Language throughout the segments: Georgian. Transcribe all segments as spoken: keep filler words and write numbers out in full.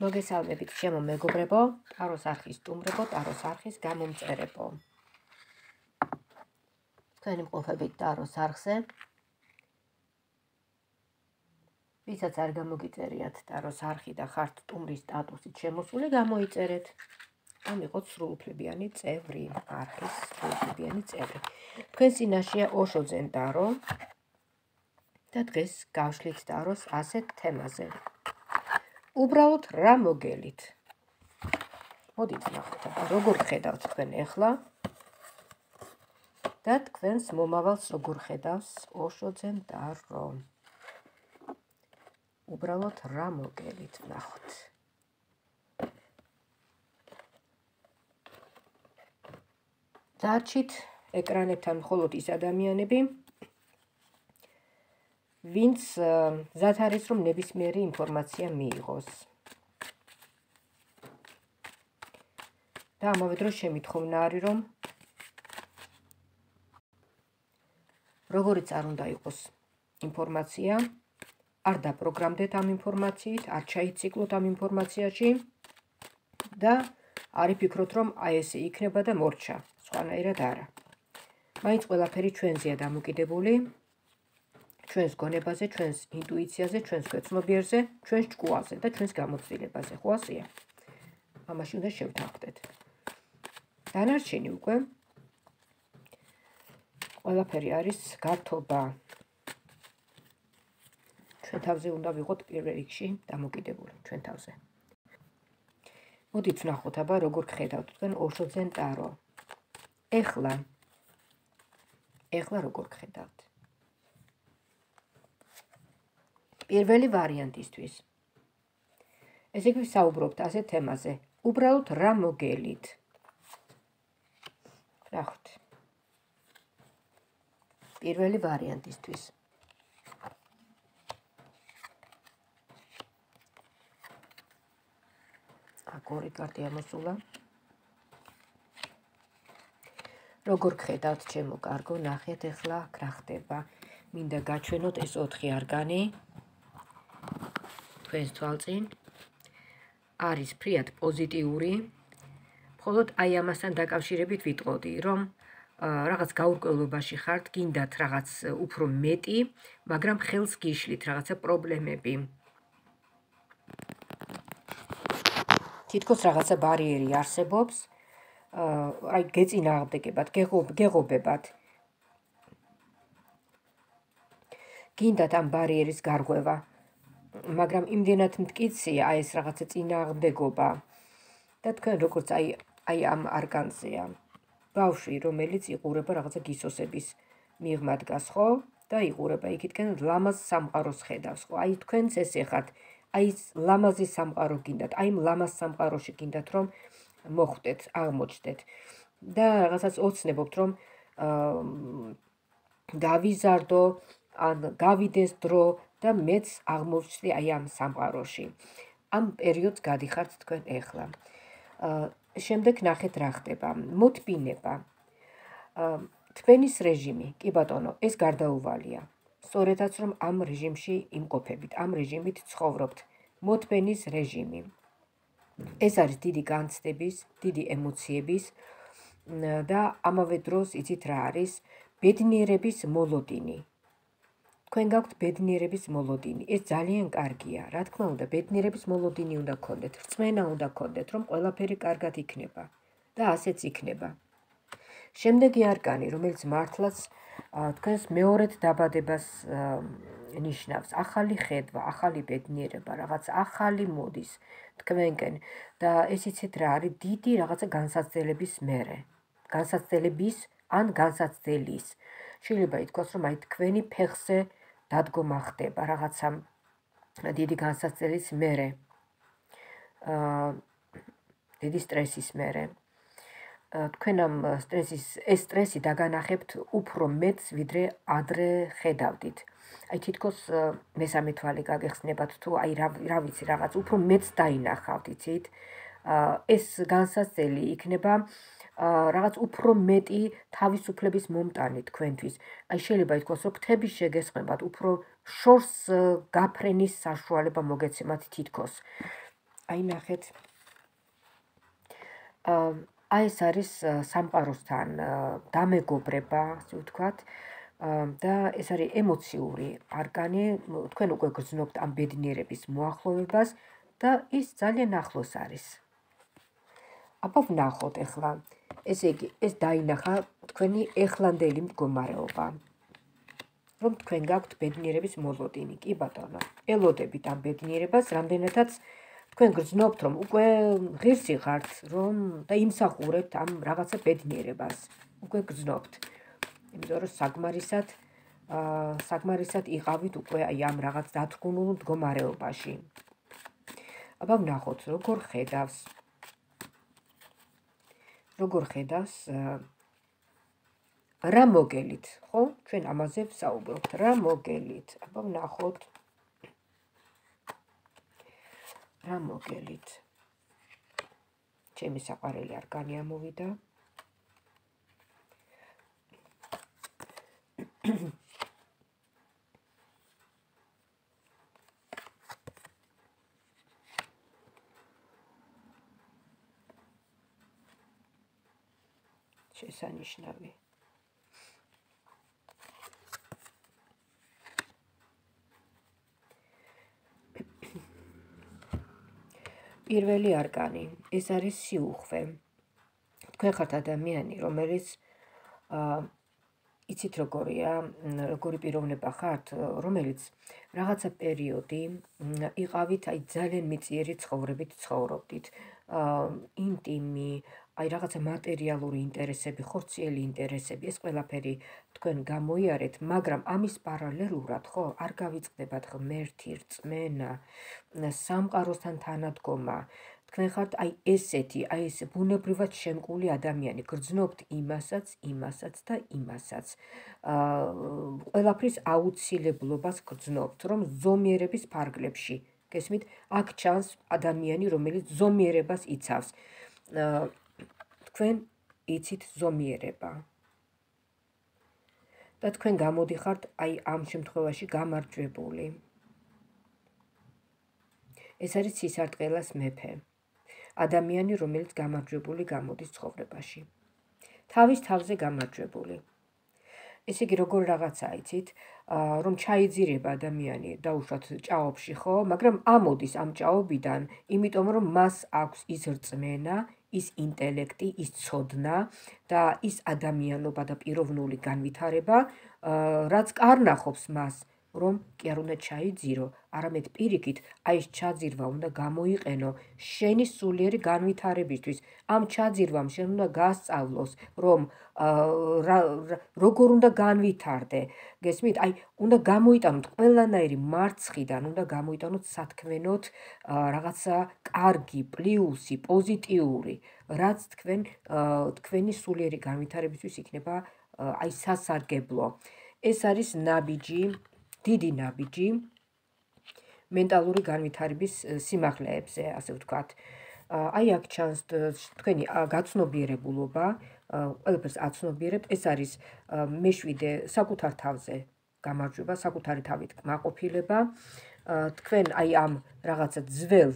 მოგესალმებით ჩემო მეგობრებო, ტაროს არხის სტუმრებო, ტაროს არხის გამომწერებო. თქვენი მყოფებით ტაროს არხზე. ვისაც არ გამოგიწერიათ ტაროს არხი და ხართ სტუმრის სტატუსით შემოსული, გამოიწერეთ. ამ იყოთ სრულუფლებიანი წევრი, არხის სრულუფლებიანი წევრი. თქვენ წინაშეა ოშო ძენ ტარო და დღეს გავშლით ტაროს ასეთ თემაზე. უბრალოდ რა მოგელით? მოდით ნახოთ, როგორ ხედავთ თქვენ ახლა და თქვენს მომავალს როგორ ხედავს ოშო ძენ ტარო. უბრალოდ რა მოგელით, ნახოთ. დარჩით ეკრანებთან მხოლოდ ის ადამიანები, ვინც მზად არის, რომ ნებისმიერი ინფორმაცია მიიღოს. და ამავე დროს შემითხოვნა არის, რომ როგორიც არ უნდა იყოს ინფორმაცია, არ დაპროგრამდეთ ამ ინფორმაციით, არ ჩაიციკლოთ ამ ინფორმაციაში და არ იფიქროთ, რომ აი ესე იქნება და მორჩა, სხვანაირად არა. მაინც ყველაფერი ჩვენზეა დამოკიდებული, ჩვენს გონებაზე, ჩვენს ინტუიციაზე, ჩვენს ქვეცნობიერზე, ჩვენს ჭკუაზე და ჩვენს გამოცდილებაზე, ხო ასეა? ამაში უნდა შევთანხმდეთ. დანარჩენი უკვე ყველაფერი არის გართობა. ჩვენ თავზე უნდა ვიყოთ პირველ რიგში დამოკიდებული, ჩვენ თავზე. მოდით ვნახოთ აბა როგორ ხედავთ თქვენ ოშო ძენ ტარო. ეხლა ეხლა როგორ ხედავთ? პირველი ვარიანტისთვის. ესე იგი ვსაუბრობთ ასეთ თემაზე. უბრალოდ რა მოგელით? ნახოთ. პირველი ვარიანტისთვის. ორი კარტი ამოსულა. როგორ ხედავთ ჩემო კარგო, ნახეთ ახლა რა ხდება. მინდა გაჩვენოთ ეს ოთხი არგანი. თქვენს თვალწინ არის ფრიად პოზიტიური. მხოლოდ აი ამასთან დაკავშირებით ვიტყოდი, რომ რაღაც გაურკვევლობაში ხართ, გინდათ რაღაც უფრო მეტი, მაგრამ ხელს გიშლით რაღაცა პრობლემები. თითქოს რაღაცა ბარიერი არსებობს, აი გეწინააღმდეგებათ, გეღობებათ. გინდათ ამ ბარიერის გარღვევა, მაგრამ იმდენად მტკიცია აი ეს რაღაცა წინააღმდეგობა და თქვენ როგორც აი აი ამ არგანზეა. ბავშვი, რომელიც იყურება რაღაცა გისოსების მიღმა დგას, ხო? და იყურება იქითკენ ლამაზ სამყაროს ხედავს, ხო? აი თქვენც ესე ხართ. აი ლამაზი სამყარო გინდათ, აი ლამაზ სამყაროში გინდათ რომ მოხვდეთ, აღმოჩნდეთ. და რაღაცას ოცნებობთ, რომ გავიზარდო, ან გავიდეს დრო და მეც აღმოჩნდი აი ამ სამყაროში. ამ პერიოდს გადიხართ თქვენ ეხლა. შემდეგ ნახეთ რა ხდება. მოთბინება. თქვენის რეჟიმი, კი ბატონო, ეს გარდაუვალია. სწორედაც რომ ამ რეჟიმში იმყოფებით, ამ რეჟიმით ცხოვრობთ. მოთბენის რეჟიმი. ეს არის დიდი განცდების, დიდი ემოციების და ამავე დროს იცით რა არის? ბედნიერების მოლოდინი. თქვენ გაქვთ ბედნიერების მოლოდინი. ეს ძალიან კარგია. რა თქმა უნდა, ბედნიერების მოლოდინი უნდა გქონდეთ, რწმენა უნდა გქონდეთ, რომ ყველაფერი კარგად იქნება და ასეც იქნება. შემდეგი არკანი, რომელიც მართლაც თქვენს მეორედ დაბადებას ნიშნავს, ახალი ხედვა, ახალი ბედნიერება, რაღაც ახალი მოდის თქვენკენ და ეს იცით რა არის? დიდი რაღაცა განსაცდელების მერე. განსაცდელების ან განსაცდელის. შეიძლება ითქვას, რომ აი თქვენი ფეხზე დადგომა ხდება რაღაცა დიდი განსაცდელის მერე. დიდი სტრესის მერე. თქვენ ამ სტრესის, ეს სტრესი დაგანახებთ უფრო მეტს, ვიდრე ადრე ხედავდით. აი თითქოს მესამე თვალი გაგეხსნებათ თუ აი რა ვიცი რაღაც უფრო მეტს დაინახავთ, იცით? ეს განსაცდელი იქნება რაღაც უფრო მეტი თავისუფლების მომტანი თქვენთვის. აი შეიძლება ითქვას, რომ ფრთების შეგესხმებათ, უფრო შორს გაფრენის საშუალება მოგეცემათ თითქოს. აი ნახეთ. აი ეს არის სამყაროსთან დამეგობრება, ასე ვთქვათ. და ეს არის ემოციური არკანი, თქვენ უკვე გრძნობთ ამ ბედნიერების მოახლოვებას და ის ძალიან ახლოს არის. აბა ვნახოთ ახლა. ესე იგი, ეს დაინახა თქვენი ეხლანდელი მდგომარეობა. რომ თქვენ გაქვთ ბედნიერების მოლოდინი, კი ბატონო. ელოდებით ამ ბედნიერებას, რამდენადაც თქვენ გრძნობთ, რომ უკვე ღირსი ხართ, რომ და იმსახურებთ ამ რაღაცა ბედნიერებას. უკვე გრძნობთ. იმიტომ რომ საგმარისად საგმარისად იყავით უკვე აი ამ რაღაც დათრგუნულ მდგომარეობაში. აბა ვნახოთ, როგორ ხედავს. როგორ ხედავს რა მოგელით, ხო? ჩვენ ამაზე ვსაუბრობთ, რა მოგელით. აბა ვნახოთ. რა მოგელით. ჩემი საყვარელი არკანი ამოვიდა. შესანიშნავი. პირველი არკანი, ეს არის სიუხვე. თქვენ ხართ ადამიანი, რომელიც იცით როგორია, როგორი პიროვნება ხართ, რომელიც რაღაცა პერიოდი იყავით აი ძალიან მიწიერი ცხოვრებით ცხოვრობდით. ინტიმი, აი რაღაცა მატერიალური ინტერესები, ხორციელი ინტერესები, ეს ყველაფერი თქვენ გამოიარეთ, მაგრამ ამის პარალელურად, ხო, არ გავიწყდებათ ღმერთი, რწმენა, სამყაროსთან თანადგომა. თქვენ ხართ აი ესეთი, აი ეს ბუნებრივად შემკული ადამიანი, გრძნობთ იმასაც, იმასაც და იმასაც. ყველაფრის აუცილებლობას გრძნობთ, რომ ზომიერების ფარგლებში, გესმით, აქ ჩანს ადამიანი, რომელიც ზომიერებას იცავს. თქვენ იცით ზომიერება. და თქვენ გამოდიხართ აი ამ შემთხვევაში გამარჯვებული. ეს არის სისარტყელას მეფე. ადამიანი, რომელიც გამარჯვებული გამოდის ცხოვრებაში. თავის თავზე გამარჯვებული. ესე იგი, როგორ რაღაცა იცით, რომ ჩაიძირება ადამიანი დაუშვათ ჭაობში, ხო, მაგრამ ამოდის ამ ჭაობიდან, იმიტომ რომ მას აქვს ის რწმენა, ის ინტელექტი, ის ცოდნა და ის ადამიანობა და პიროვნული განვითარება, რაც კარნახობს მას, რომ კი არ უნდა ჩაიძირო, არამედ პირიქით, აი ეს ჩაძირვა უნდა გამოიყენო შენი სულიერი განვითარებისთვის. ამ ჩაძირვამ შენ უნდა გასწავლოს, რომ როგორ უნდა განვითარდე. გესმით? აი, უნდა გამოიტანოთ ყველანაირი მარცხიდან, უნდა გამოიტანოთ სათქმენოდ რაღაცა კარგი, პლუსი, პოზიტიური, რაც თქვენ თქვენი სულიერი განვითარებისთვის იქნება აი სასარგებლო. ეს არის ნაბიჯი, დიდი ნაბიჯი მენტალური განვითარების სიმაღლეებზე, ასე ვთქვათ. აი აქ ჩანს თქვენი გაცნობიერებულობა, ყველაფერს აცნობიერებთ, ეს არის მეშვიდე საკუთარ თავზე გამარჯვება, საკუთარი თავით კმაყოფილება. თქვენ აი ამ რაღაცა ძველ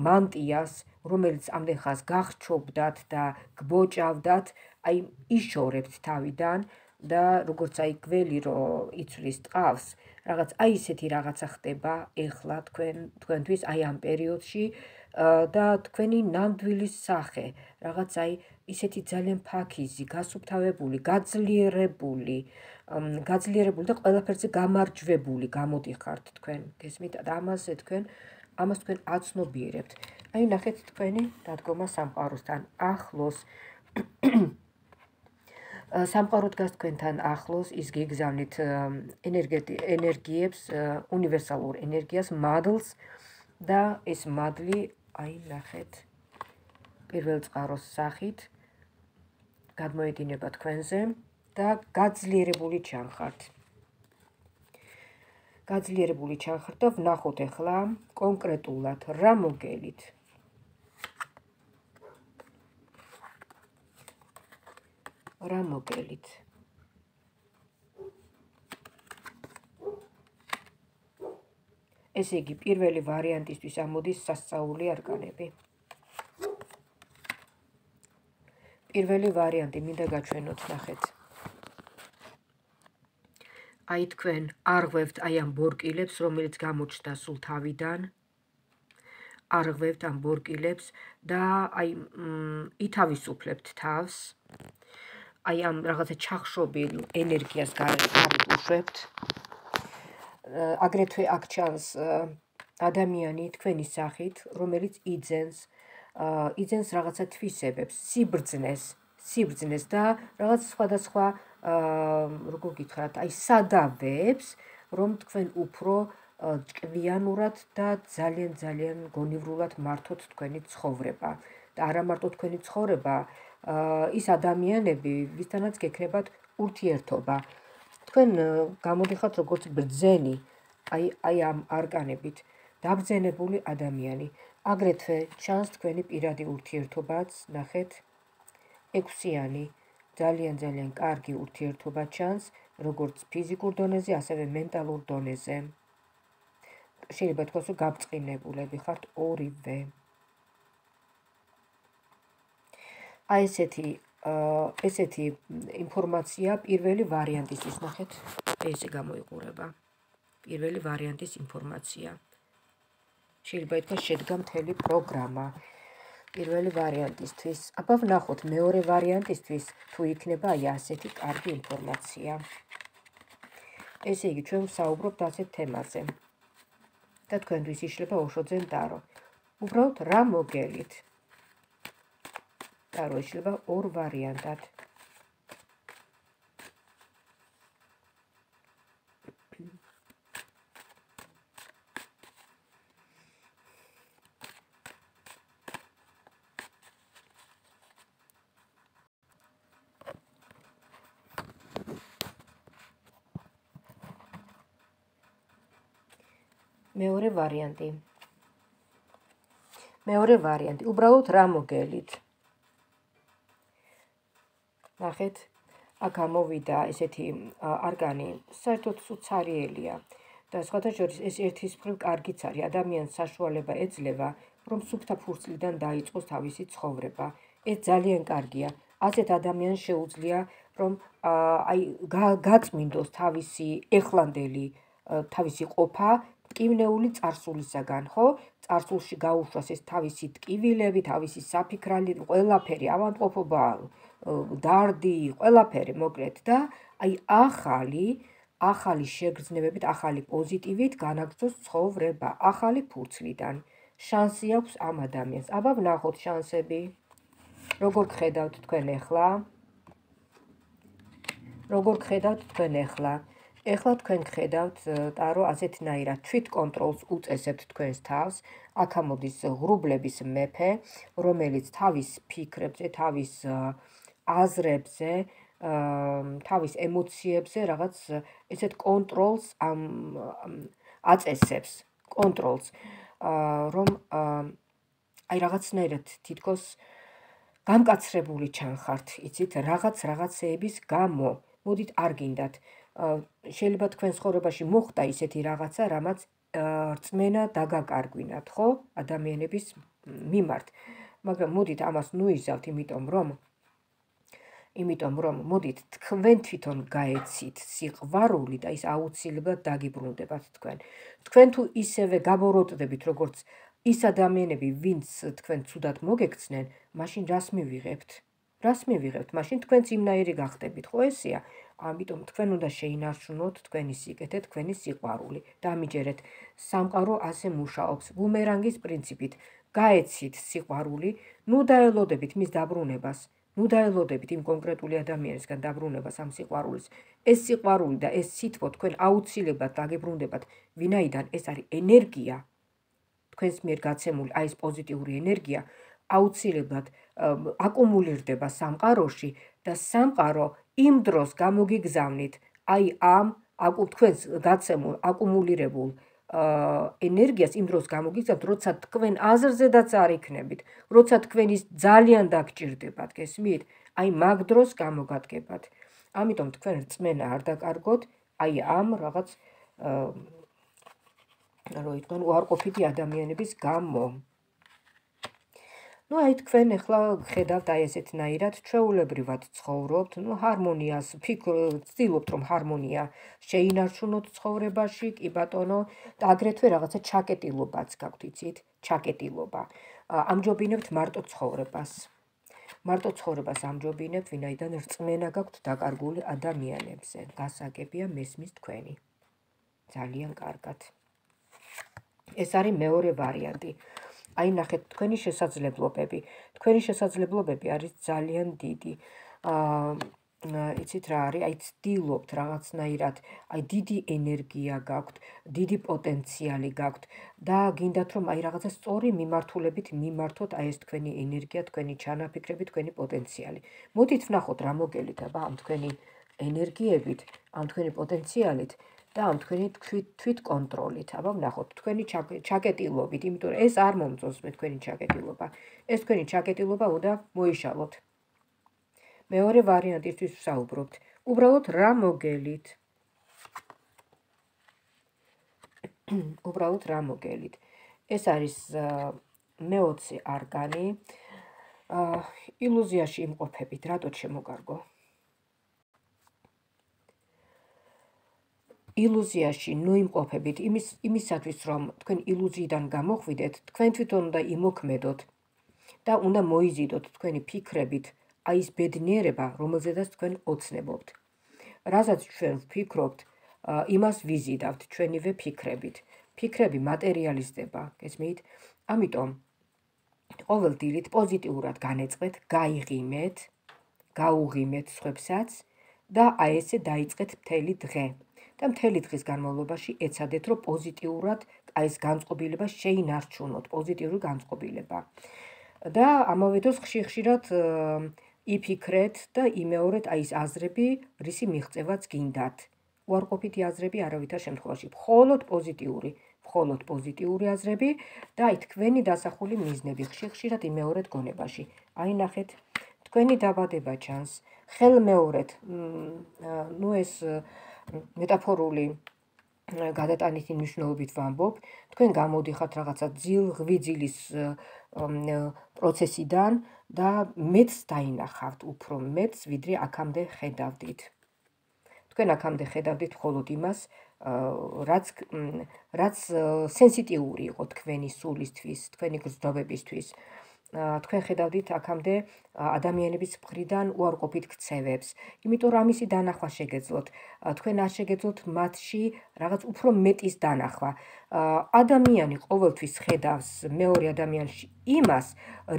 მანტიას, რომელიც ამდენ ხანს გახჩობდათ და გბოჭავდათ, აი იშორებთ თავიდან და როგორც აი გველი რო იცვლის ტყავს, რაღაც აი ისეთი რაღაცა ხდება ეხლა თქვენ თქვენთვის აი ამ პერიოდში და თქვენი ნამდვილი სახე, რაღაც აი ისეთი ძალიან ფაქიზი, გასუფთავებული, გაძლიერებული, გაძლიერებული და ყველაფერზე გამარჯვებული გამოდიხართ თქვენ. გესმით? და ამაზე თქვენ ამას თქვენ აცნობიერებთ. აი ნახეთ თქვენი დადგომა სამყაროსთან ახლოს. სამყარო დგას თქვენთან ახლოს, ის გიგზავნით ენერგიებს, უნივერსალურ ენერგიას, მადლს და ეს მადლი, აი ნახეთ, პირველ წყაროს სახით გადმოედინება თქვენზე და გაძლიერებული ჩანხართ. გაძლიერებული ჩანხართ და ვნახოთ ახლა კონკრეტულად რა მოგელით. რა მოგელით. ესე იგი, პირველი ვარიანტისთვის ამოდის სასწაული არკანები. პირველი ვარიანტი, მინდა გაჩვენოთ, ნახეთ. აი თქვენ არღვევთ აი ამ ბორკილებს, რომელიც გამოჩნდა სულ თავიდან. არღვევთ ამ ბორკილებს და აი ითავისუფლებთ თავს. აი ამ რაღაცა ჩახშობილ ენერგიას გარეთ უშვებთ. აგრეთვე აქ ჩანს ადამიანი თქვენი სახით, რომელიც იძენს, იძენს რაღაცა თვისებებს, სიბრძნეს, სიბრძნეს და რაღაც სხვადასხვა, როგორ გითხრათ, აი სადავებს, რომ თქვენ უფრო ჭკვიანურად და ძალიან ძალიან გონივრულად მართოთ თქვენი ცხოვრება. და არა მარტო თქვენი ცხოვრება, ის ადამიანები, ვისთანაც გექნებათ ურთიერთობა. თქვენ გამოდიხართ როგორც ბრძენი, აი აი ამ არკანებით დაბრძენებული ადამიანი. აგრეთვე ჩანს თქვენი პირადი ურთიერთობაც, ნახეთ, ექვსიანი, ძალიან ძალიან კარგი ურთიერთობა ჩანს, როგორც ფიზიკურ დონეზე, ასევე მენტალურ დონეზე. შეიძლება თქვას, რომ გაბწყინებულები ხართ ორივე. აი ესეთი ესეთი ინფორმაცია პირველი ვარიანტისთვის, ნახეთ, ესე გამოიყურება. პირველი ვარიანტის ინფორმაცია. შეიძლება ითქვას, შედგა მთელი პროგრამა. პირველი ვარიანტისთვის. აბა ვნახოთ მეორე ვარიანტისთვის, თუ იქნება აი ასეთი კარგი ინფორმაცია. ესე იგი, ჩვენ ვსაუბრობთ ასეთ თემაზე. და თქვენთვის იშლება ოშოძენ ტარო. უბრალოდ რა მოგელით? ტარო იშლება ორ ვარიანტად. მეორე ვარიანტი. მეორე ვარიანტი, უბრალოდ რა მოგელით? ნახეთ, აქ გამოვიდა ესეთი არკანი, საერთოდ უცარიელია და სხვათა შორის ეს ერთის მხრივ კარგიც არის. ადამიანს საშუალება ეძლევა, რომ სუფთა ფურცლიდან დაიწყოს თავისი ცხოვრება. ეს ძალიან კარგია. ასეთ ადამიანს შეუძლია, რომ აი გაწმინდოს თავისი ეხლანდელი თავისი ყოფა ტკივნეული წარსულისაგან, ხო? წარსულში გაუშვას ეს თავისი ტკივილები, თავისი საფიქრალი, ყველაფერი, ავადმყოფობა, დარდი, ყველაფერი, მოკლედ და აი ახალი, ახალი შეგრძნებებით, ახალი პოზიტივით განაგრძოს ცხოვრება, ახალი ფურცლიდან. შანსი აქვს ამ ადამიანს. აბა ვნახოთ შანსები. როგორ გხედავთ თქვენ ახლა? როგორ გხედავთ თქვენ ახლა? ეხლა თქვენ გხედავთ ტარო ასეთნაირად, თვით კონტროლს უწესებთ თქვენს თავს. აქ ამოდის ღრუბლების მეფე, რომელიც თავის ფიქრებზე, თავის აზრებზე, თავის ემოციებზე რაღაც ესეთ კონტროლს აწესებს, კონტროლს, რომ აი რაღაცნაირად თითქოს გამკაცრებული ჩანხართ, იცით, რაღაც რაღაცეების გამო. მოდით არ გინდათ. შეიძლება თქვენ ცხოვრებაში მოხდა ისეთი რაღაცა, რამაც რწმენა დაგაკარგვინათ, ხო? ადამიანების მიმართ. მაგრამ მოდით ამას ნუიზავთ, იმიტომ რომ იმიტომ რომ მოდით თქვენ თვითონ გაეცით სიყვარული და ის აუცილებლად დაგიბრუნდებათ თქვენ. თქვენ თუ ისევე გაბოროტდებით, როგორც ის ადამიანები, ვინც თქვენ ცუდად მოგექცნენ, მაშინ რას მივიღებთ? რას მივიღებთ? მაშინ თქვენც იმნაირი გახდებით, ხო ესეა? ამიტომ თქვენ უნდა შეინარჩუნოთ თქვენი სიკეთე, თქვენი სიყვარული. დამიჯერეთ, სამყარო ასე მუშაობს, ბუმერანგის პრინციპით. გაეცით სიყვარული, ნუ დაელოდებით მის დაბრუნებას. ნუ დაელოდებით იმ კონკრეტული ადამიანისგან დაბრუნებას ამ სიყვარულის. ეს სიყვარული და ეს სითბო თქვენ აუცილებლად დაგებრუნდებათ, ვინაიდან ეს არის ენერგია, თქვენს მიერ გაცემული, აი ეს პოზიტიური ენერგია, აუცილებლად აკუმულირდება სამყაროში და სამყარო იმ დროს გამოგიგზავნით, აი ამ თქვენს გაცემულ აკუმულირებულ ენერგიას იმ დროს გამოგიგზავნით, როცა თქვენ აზრზედაც არ იქნებით, როცა თქვენ ის ძალიან დაგჭირდებათ, გესმით? აი მაგ დროს გამოგადგებათ. ამიტომ თქვენ რწმენა არ დაკარგოთ, აი ამ რაღაც რომ იყვნენ უარყოფითი ადამიანების გამო. ნუ აი თქვენ ახლა ხედავთ აი ესეთნაირად ჩვეულებრივად ცხოვრობთ, ნუ ჰარმონიას ვცდილობთ რომ ჰარმონია შეინარჩუნოთ ცხოვრებაში, კი ბატონო, და აგრეთვე რაღაცა ჩაკეტილობაც გაქვთ, იცით? ჩაკეტილობა. ამჯობინებთ მარტო ცხოვრებას. მარტო ცხოვრებას ამჯობინებთ, ვინაიდან რწმენა გაქვთ დაკარგული ადამიანებზე. გასაგებია მესმის თქვენი. ძალიან კარგად. ეს არის მეორე ვარიანტი. აი ნახეთ თქვენი შესაძლებლობები. თქვენი შესაძლებლობები არის ძალიან დიდი. აა იცით რა არის? აი ცდილობთ რაღაცნაირად, აი დიდი ენერგია გაქვთ, დიდი პოტენციალი გაქვთ და გინდათ რომ აი რაღაცა სწორი მიმართულებით მიმართოთ აი ეს თქვენი ენერგია, თქვენი ჩანაფიქრები, თქვენი პოტენციალი. მოდით ვნახოთ რა მოგელით აბა ამ თქვენი ენერგიებით, ამ თქვენი პოტენციალით და ამ თქვენი თვით კონტროლით. აბა ვნახოთ თქვენი ჩაკეტილობით, იმიტომ რომ ეს არ მომწონს მე თქვენი ჩაკეტილობა. ეს თქვენი ჩაკეტილობა უნდა მოიშალოთ. მეორე ვარიანტისთვის ვსაუბრობთ. უბრალოდ რა მოგელით? უბრალოდ რა მოგელით? ეს არის მეოცე არგანი. ილუზიაში იმყოფებით, რატო შემოგარგო? ილუზიაში ნუ იმყოფებით იმის იმისათვის რომ თქვენ ილუზიიდან გამოხვიდეთ, თქვენ თვითონ უნდა იმოქმედოთ და უნდა მოიზიდოთ თქვენი ფიქრებით აი ეს ბედნიერება, რომელზედაც თქვენ ოცნებობთ. რასაც ჩვენ ვფიქრობთ, იმას ვიზიდავთ ჩვენივე ფიქრებით. ფიქრები მატერიალიზდება, გესმით? ამიტომ ყოველ დილით პოზიტიურად განეწყეთ, გაიღიმეთ, გაუღიმეთ სხვებსაც და აი ესე დაიწყეთ მთელი დღე. და მთელი დღის განმავლობაში ეცადეთ, რომ პოზიტიურად აი ეს განწყობილება შეინარჩუნოთ, პოზიტიური განწყობილება. და ამავე დროს ხშირ-ხშირად იფიქრეთ და იმეორეთ აი ეს აზრები, რისი მიღწევაც გინდათ. უარყოფითი აზრები არავითარ შემთხვევაში, მხოლოდ პოზიტიური, მხოლოდ პოზიტიური აზრები და აი თქვენი დასახული მიზნები ხშირ-ხშირად იმეორეთ გონებაში. აი ნახეთ, თქვენი დაბადება ჩანს, ხელმეორეთ, ნუ ეს მეტაფორული გადატანითი მნიშვნელობით ვამბობ, თქვენ გამოდიხართ რაღაცა ძილ-ღვიძილის პროცესიდან და მეც დაინახავთ, უფრო მეც, ვიდრე აქამდე ხედავდით. თქვენ აქამდე ხედავდით მხოლოდ იმას, რაც რაც სენსიტიური იყო თქვენი სულისთვის, თქვენი გრძნობებისთვის. თქვენ ხედავდით აქამდე ადამიანების მხრიდან უარყოფით ქცევებს, იმიტომ რომ ამისი დანახვა შეგეძლოთ. თქვენ არ შეგეძლოთ მათში რაღაც უფრო მეტის დანახვა. ადამიანი ყოველთვის ხედავს მეორე ადამიანში იმას,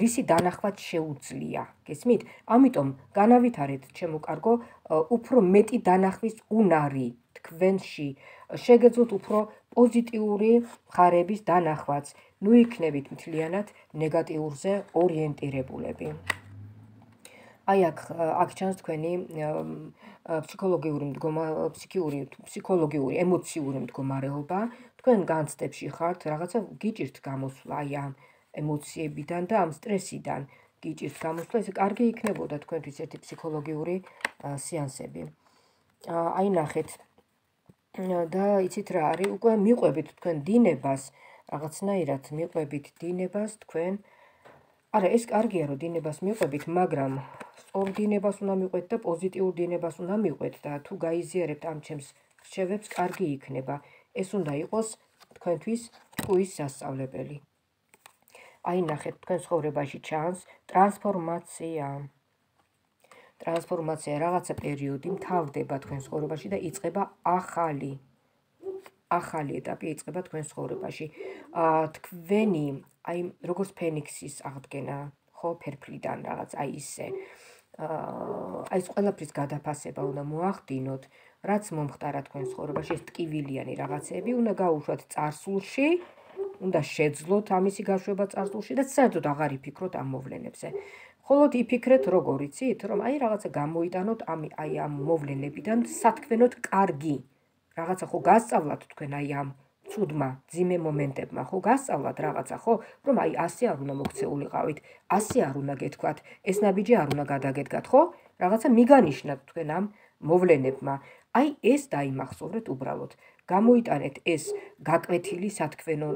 რისი დანახვაც შეუძლია. გესმით? ამიტომ განავითარეთ, ჩემო კარგო, უფრო მეტი დანახვის უნარი თქვენში. შეგეძლოთ უფრო პოზიტიური მხარეების დანახვაც. ნუ იქნებით მთლიანად ნეგატიურზე ორიენტირებულები. აი აქ აქ ჩანს თქვენი ფსიქოლოგიური მდგომა ფსიქიური ფსიქოლოგიური ემოციური მდგომარეობა. თქვენ განცდებში ხართ, რაღაცა გიჭირთ გამოსვლა აი ამ ემოციებიდან და ამ სტრესიდან გიჭირთ გამოსვლა. ეს კარგი იქნებოდა თქვენთვის ერთი ფსიქოლოგიური სეანსები. აი ნახეთ. და იცით რა არის, უკვე მიყვებით თქვენ დინებას, რაღაცნაირად მიყვებით დინებას თქვენ. არა, ეს კარგია რომ დინებას მიყვებით, მაგრამ სწორ დინებას უნდა მიყვეთ და პოზიტიურ დინებას უნდა მიყვეთ და თუ გაიზიარებთ ამ ჩემს რჩევებს, კარგი იქნება. ეს უნდა იყოს თქვენთვის ტყუის სასწავლებელი. აი ნახეთ, თქვენ ცხოვრებაში ჩანს ტრანსფორმაცია. ტრანსფორმაცია რაღაცა პერიოდი მთავრდება თქვენ ცხოვრებაში და იწყება ახალი ახალი ეტაპი იწყება თქვენ ცხოვრებაში. თქვენი აი როგორც ფენიქსის აღდგენა, ხო, ფერფლიდან რაღაც აი ისე. აი ეს ყველაფრის გადაფასება უნდა მოახდინოთ, რაც მომხდარა თქვენ ცხოვრებაში, ეს ტკივილიანი რაღაცები უნდა გაუშვათ წარსულში, უნდა შეძლოთ ამისი გაშვება წარსულში და საერთოდ აღარ იფიქროთ ამ მოვლენებზე. მხოლოდ იფიქრეთ როგორ იცით, რომ აი რაღაცა გამოიტანოთ აი ამ მოვლენებიდან სათქმელოდ კარგი. რაღაცა ხო გასწავლათ თქვენ აი ამ ცუდმა ძიმე მომენტებმა, ხო გასწავლათ რაღაცა, ხო, რომ აი ასე არ უნდა მოქცეულიყავით, ასე არ უნდა გეთქვათ, ეს ნაბიჯი არ უნდა გადაგედგათ, ხო? რაღაცა მიგანიშნათ თქვენ ამ მოვლენებმა. აი ეს დაიმახსოვრეთ უბრალოდ. გამოიტანეთ ეს გაკვეთილი სათქმელო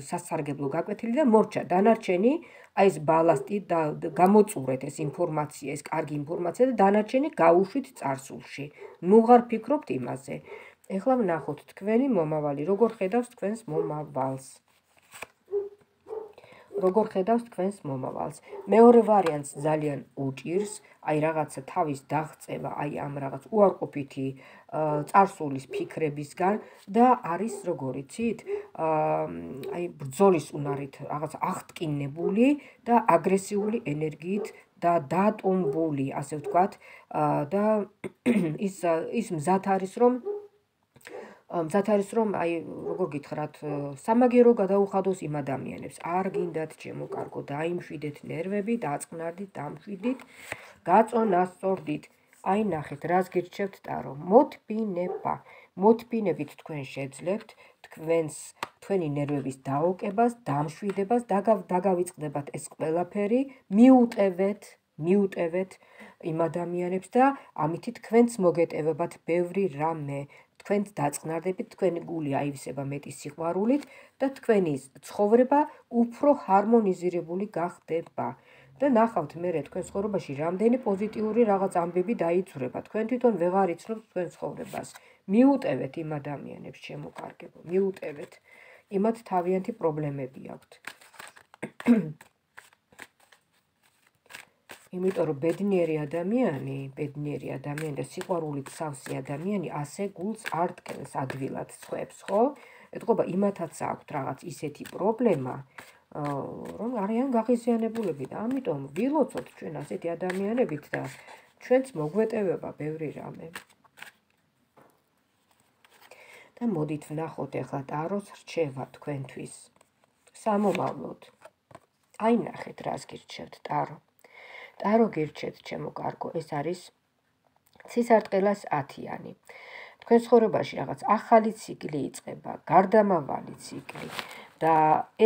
სასარგებლო გაკვეთილი და მორჩა დანარჩენი აი ეს ბალასტი და გამოწურეთ ეს ინფორმაცია, ეს კარგი ინფორმაცია და დანარჩენი გაუშვით წარსულში. ნუ ვღარ ფიქრობთ იმაზე. ეხლა ვნახოთ თქვენი მომავალი, როგორ ხედავს თქვენს მომავალს. როგორ ხედავს თქვენს მომავალს. მეორე ვარიანტს ძალიან უჭირს, აი რაღაცა თავის დაღწევა, აი ამ რაღაც უარყოფითი წარსულის ფიქრებისგან და არის როგორ იცით, აი ბრძოლის უნარით რაღაც აღტკინებული და აგრესიული ენერგიით და დატომბული, ასე ვთქვათ, და ის ის მზად არის რომ მზად არის რომ აი როგორ გითხრათ სამაგერო გადაუხადოს იმ ადამიანებს არ გინდათ ჩემო კარგო დაიმშვიდეთ ნერვები დაწყნარდით დამშვიდით გაწონასწორდით აი ნახეთ რას გირჩევთ ტარო მოთბინება მოთბინებით თქვენ შეძლებთ თქვენს თქვენი ნერვების დაოკებას დამშვიდებას დაგავიწყდებათ ეს ყველაფერი მიუტევეთ მიუტევეთ იმ ადამიანებს და ამითი თქვენც მოგეტევებათ ბევრი რამე თქვენც დაწყნარდებით, თქვენი გული აივსება მეტი სიყვარულით და თქვენი ცხოვრება უფრო ჰარმონიზირებული გახდება. და ნახავთ მერე თქვენ ცხოვრებაში რამდენი პოზიტიური რაღაც ამბები დაიწურება. თქვენ თვითონ ვეღარ იცნობთ თქვენ ცხოვრებას. მიუტევეთ იმ ადამიანებს, ჩემო კარგებო, მიუტევეთ. იმათ თავიანთი პრობლემები აქვთ. იმიტომ რომ ბედნიერი ადამიანი, ბედნიერი ადამიანი და სიყვარულით სავსე ადამიანი ასე გულს არ ტკენს ადვილად სხვებს, ხო? ეთქობა იმათაც აქვთ რაღაც ისეთი პრობლემა, რომ არიან გაღიზიანებულები და ამიტომ ვილოცოთ ჩვენ ასეთი ადამიანებით და ჩვენც მოგვეტევება ბევრი რამე. და მოდით ვნახოთ ახლა ტაროს რჩევა თქვენთვის. სამომავლოდ. აი ნახეთ რას გირჩევთ ტარო. ტარო გირჩევთ ჩემო კარგო, ეს არის ცისარტყელას ათიანი. თქვენ ცხოვრებაში რაღაც ახალი ციკლი იწყება, გარდამავალი ციკლი და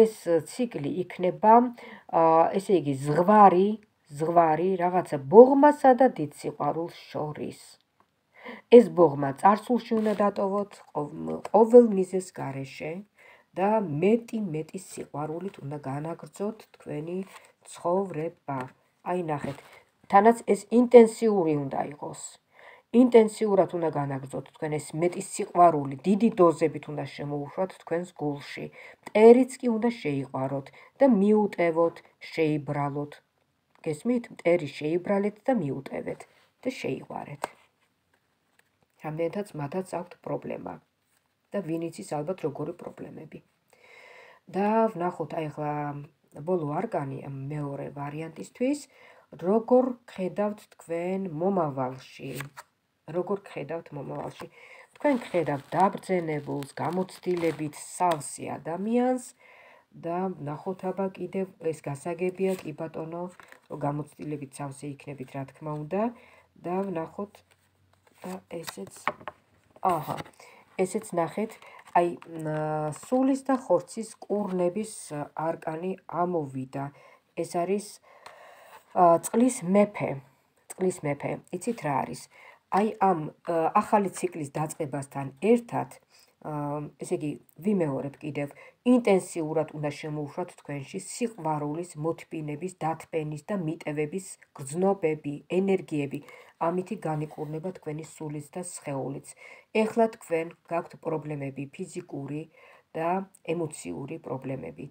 ეს ციკლი იქნება, ესე იგი ზღვარი, ზღვარი რაღაცა ბოღმასა და დიდ სიყვარულს შორის. ეს ბოღმა წარსულში უნდა დატოვოთ ყოველ მიზეს გარეშე და მეტი მეტი სიყვარულით უნდა განაგრძოთ თქვენი ცხოვრება. აი ნახეთ, თანაც ეს ინტენსიური უნდა იყოს. ინტენსიურად უნდა განაგრძოთ თქვენ ეს მეტი სიყვარული, დიდი დოზებით უნდა შემოუშვათ თქვენს გულში. მტერიც კი უნდა შეიყვაროთ და მიუტევოთ, შეიბრალოთ. გესმით? მტერი შეიბრალეთ და მიუტევეთ და შეიყვარეთ. რამდენადაც მათაც აქვთ პრობლემა და ვინ იცის ალბათ როგორი პრობლემები. და ვნახოთ აი ახლა ბოლო არკანი მეორე ვარიანტისთვის, როგორ ხედავთ თქვენ მომავალში. როგორ ხედავთ მომავალში. თქვენ ხედავთ დაბრძენებულს, გამოცდილებით სავსე ადამიანს და ვნახოთ აბა კიდევ ეს გასაგებია კი ბატონო, რომ გამოცდილებით სავსე იქნებით რა თქმა უნდა და ვნახოთ და ესეც აჰა, ესეც ნახეთ აი სულის და ხორცის კურნების არკანი ამოვიდა. ეს არის წყლის მეფე. წყლის მეფე. იცით რა არის? აი ამ ახალი ციკლის დაწყებასთან ერთად, ესე იგი, ვიმეორებ კიდევ, ინტენსიურად უნდა შემოუშვათ თქვენში სიყვარულის, მოთბინების, დათბენის და მიტევების გრძნობები, ენერგიები. ამითი განიკურნება თქვენი სულიც და სხეულიც. ეხლა თქვენ გაქვთ პრობლემები, ფიზიკური და ემოციური პრობლემები.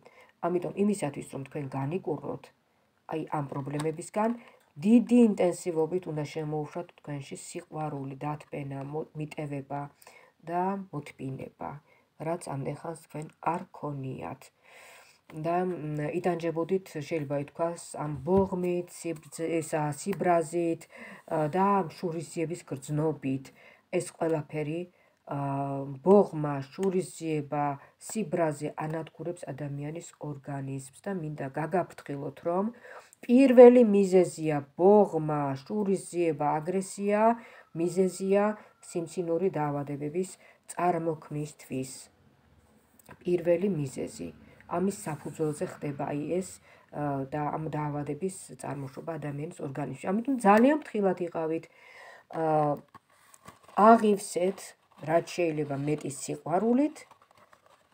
ამიტომ იმისათვის, რომ თქვენ განიკურნოთ აი ამ პრობლემებისგან, დიდი ინტენსივობით უნდა შემოუშვათ თქვენში სიყვარული, დათბენა, მიტევება და მოთბინება, რაც ამდენხანს თქვენ არ ქონიათ. და იტანჯებოდით, შეიძლება ითქვას, ამ ბოღმით, სიბრაზით და შურისძიების გრძნობით. ეს ყველაფერი ბოღმა, შურისძიება, სიბრაზე ანადგურებს ადამიანის ორგანიზმს და მინდა გაგაფრთხილოთ, რომ პირველი მიზეზია ბოღმა, შურისძიება, აგრესია, მიზეზია სიმსინური დაავადებების წარმოქმნისთვის. პირველი მიზეზი. ამის საფუძველზე ხდება აი ეს და ამ დაავადების წარმოშობა ადამიანის ორგანიზმში. ამიტომ ძალიან ფრთხილად იყავით. აღივსეთ რაც შეიძლება მეტი სიყვარულით,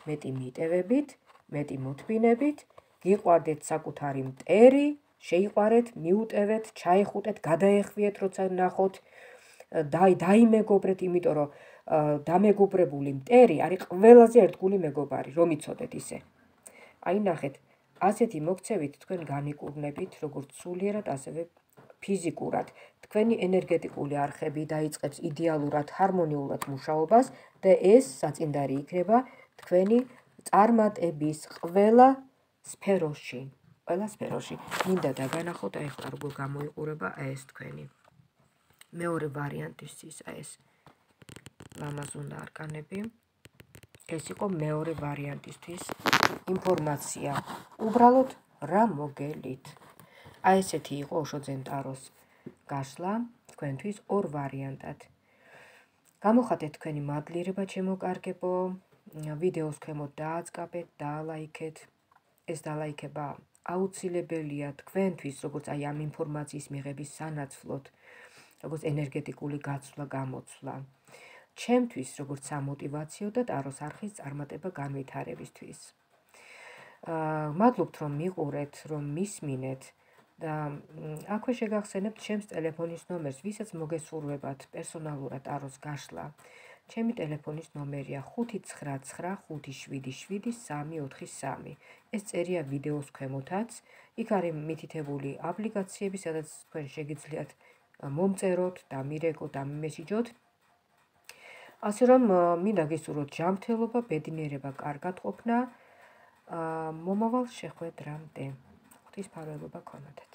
მეტი მიტევებით, მეტი მოთმინებით, გიყვარდეთ საკუთარი მტერი, შეიყვარეთ, მიუტევეთ, ჩაიხუტეთ, გადაეხვიეთ, როცა ნახოთ, დაიმეგობრეთ, იმიტომ რომ დამეგობრებული მტერი არის ყველაზე ერთგული მეგობარი, რომ იცოდეთ ისე. აი ნახეთ, ასეთი მოქცევით თქვენ განიკურნებით, როგორც სულიერად, ასევე ფიზიკურად. თქვენი ენერგეტიკული არხები დაიწყებს იდეალურად, ჰარმონიულად მუშაობას და ეს საწინდარი იქნება თქვენი წარმატების ყველა სფეროში. ყველა სფეროში. მინდა დაგანახოთ, აი ახლა როგორ გამოიყურება ეს თქვენი. მეორე ვარიანტისთვის ეს ლამაზუნა არკანები. ეს იყო მეორე ვარიანტისთვის ინფორმაცია. უბრალოდ რა მოგელით. აი ესეთი იყო ოშო ძენტაროს გასვლა თქვენთვის ორ ვარიანტად. გამოხატეთ თქვენი მადლიერება ჩემო კარგებო, ვიდეოს ქვემოთ დააწყაბეთ, დაალაიქეთ. ეს დალაიქება აუცილებელია თქვენთვის, როგორც აი ამ ინფორმაციის მიღების სანაცვლოდ, როგორც ენერგეტიკული გაცვლა, გამოცვლა. ჩემთვის, როგორც სამოტივაციო და ტაროს არხის წარმატება განვითარებისთვის. მადლობთ, რომ მიყურეთ, რომ მისმინეთ და აქვე შეგახსენებთ ჩემს ტელეფონის ნომერს, ვისაც მოგესურვებათ პერსონალურად ტაროს გაშლა. ჩემი ტელეფონის ნომერია ხუთი ცხრა ცხრა ხუთი შვიდი შვიდი სამი ოთხი სამი. ეს წერია ვიდეოს ქვემოთაც. იქ არის მითითებული აპლიკაციები, სადაც თქვენ შეგიძლიათ მომწეროთ, დამირეკოთ, დამიმესიჯოთ. ასე რომ მინდა გისურვოთ ჯანმრთელობა, ბედნიერება, კარგად ყოფნა, მომავალ შეხვედრამდე. ღვთისმფარველობა გქონოდეთ.